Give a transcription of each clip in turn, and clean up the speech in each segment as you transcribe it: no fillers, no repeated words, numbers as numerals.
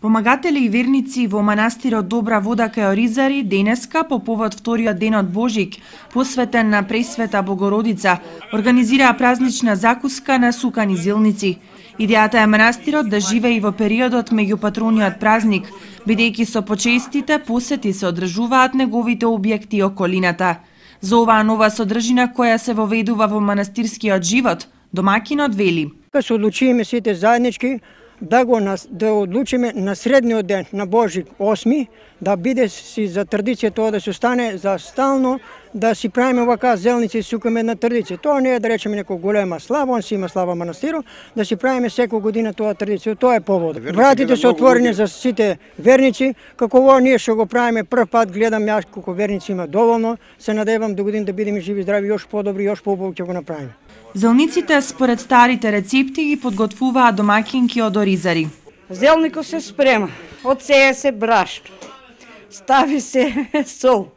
Помагатели и верници во манастирот Добра вода кај Оризари денеска по повод вториот ден од Божик, посветен на Пресвета Богородица, организираа празнична закуска на сукани зелници. Идејата е манастирот да живее и во периодот меѓу патрониот празник, бидејќи со почестите посети се одржуваат неговите објекти и околината. За оваа нова содржина која се воведува во манастирскиот живот, домакинот вели: Се одлучиме сите заеднички да одлучиме на средниот ден на Божик 8, да биде си за традиција тоа да се остане за стално, да си правиме вака зелници и сукаме една традиција. Тоа не е да речеме некоја голема слава, он си има слава манастирот, да си правиме секоја година тоа традиција. Тоа е повод. Вратите се отворени за сите верници, како во ние што го правиме прв пат, гледам јас колку верници има доволно, се надевам до година да бидеме живи и здрави, још подобри, још поубаво ќе го направиме. Зелниците според старите рецепти ги подготвуваат домакинки од Оризари. Зелникот се спрема, одсеја се брашно, стави се сол,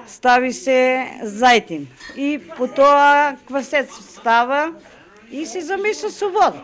стави се зајтин и потоа квасец става и се замеса со вода.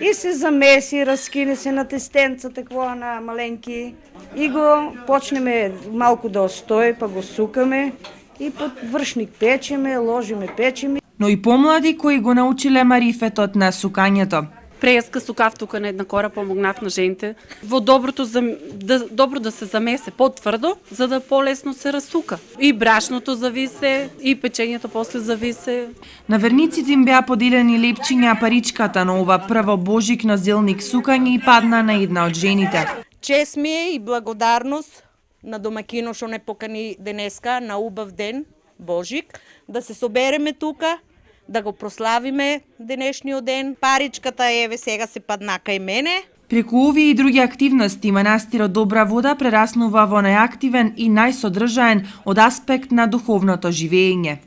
И се замеси, раскине се на тестенца, такво на маленки и го почнеме малку да остои, па го сукаме и под вршник печеме, ложиме печеме. Но и помлади кои го научиле марифетот на сукањето. Преска сукав тука на една кора, помогнав на жените во добро да се замесе потврдо, за да полесно се расука. И брашното зависе, и печењето после зависе. На верниците им беа поделени лепчиња, паричката на ова прво божикно зелник сукање и падна на една од жените. Чест ми е и благодарност на домакино што не покани денеска на убав ден Божик, да се собереме тука, да го прославиме денешниот ден. Паричката еве сега се падна кај мене. Преку овие и други активности, манастирот Добра вода прераснува во најактивен и најсодржаен од аспект на духовното живење.